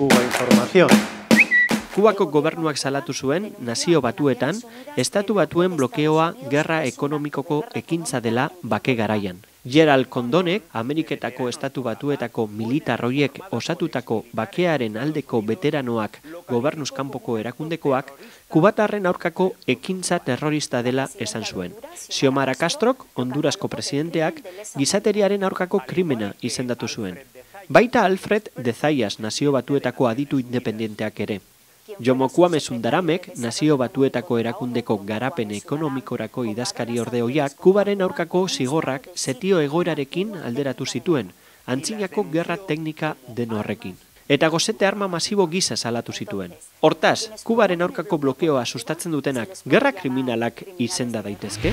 Cuba Información. Kubako gobernuak salatu zuen, Nazio Batuetan, Estatu Batuen blokeoa gerra ekonomikoko ekintza dela bake garaian. Gerald Condonek, Ameriketako Estatu Batuetako militar horiek osatutako bakearen aldeko veteranoak gobernuz kanpoko erakundekoak, kubatarren aurkako ekintza terrorista dela esan zuen. Xiomara Castrok, Hondurasko presidenteak, gizateriaren aurkako krimena izendatu zuen. Baita Alfred de Zayas Nazio Batuetako aditu independenteak ere. Jomo Kwame Sundaramek, Nazio Batuetako erakundeko garapen ekonomikorako idazkari ordeoiak, Kubaren aurkako zigorrak setio egoerarekin alderatu zituen, antzinako gerra teknika den horrekin. Eta gozete arma masibo gisa salatu zituen. Hortaz, Kubaren aurkako blokeoa sustatzen dutenak gerra kriminalak izenda daitezke?